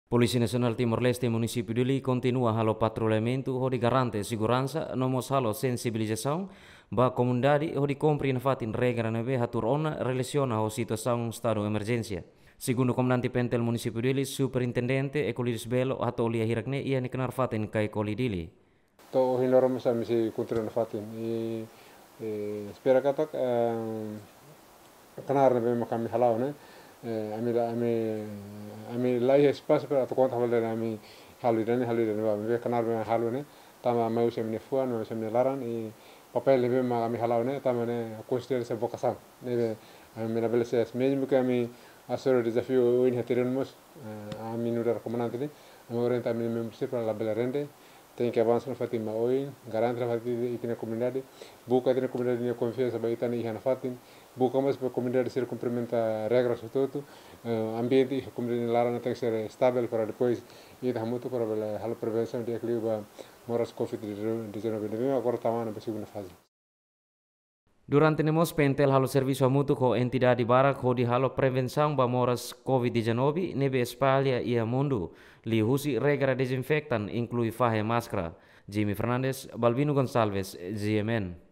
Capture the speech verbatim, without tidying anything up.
Polísia Nasionál Timor-Leste Munisípiu Dili kontinua halo patrullamentu hodi garante seguransa no mós halo sensibilizasaun ba komunidade hodi kumpre nafatin regra ne'ebé hatuur ona relasiona ho situasaun estadu emerjénsia. Segundu komandante PNTL Munisípiu Dili, Superintendente Euclides Belo, hato'o lia hirak-ne'e iha nia knaar fatin Caicoli, Dili. To'o ohin loron mós ami sei kontinua nafatin. I, eh, espera katak, eh, knaar ne'ebé mak ami hala'o ne'e. Eh, ami la, ami, ami la iha espasu para atu konta fali dehan ami halo ida-ne'e, halo ida-ne'ebá. Ami be knaar be halo ne'e, tanba mai husi ami-nia fuan, mai husi ami-nia laran, i papél ne'ebé mak ami hala'o ne'e, tanba ne'e konsidera sai vokasaun. Ne'ebé ami labele sees, mezmu ke ami aseita dezafiu ohin iha terrenu mós, eh, ami nu'udar komandante ne'e, ami orienta ami membru sira para labele rende, tenke avansa nafatin ba oin, garante nafatin ita-nia komunidade, buka ita-nia komunidade nia konfiansa ba ita ne'e iha nafatin, buka mós ba komunidade sira kumprimenta regras hotu-hotu, eh, ambiente iha komunidade nia laran tenke ser estável para depois ita hamutuk para bele halo prevensaun di'ak liu ba moras covid dezanove ne'ebé agora tama ona ba segunda faze. Durante ne'e mós PNTL halo servisu hamutuk ho entidade barak hodi halo prevensaun ba moras covid dezanove ne'ebé espalla iha mundu, liuhusi regra dezinfektan inklui fahe máskara. Jimmy Fernandes, Balbino Gonçalves, G M N.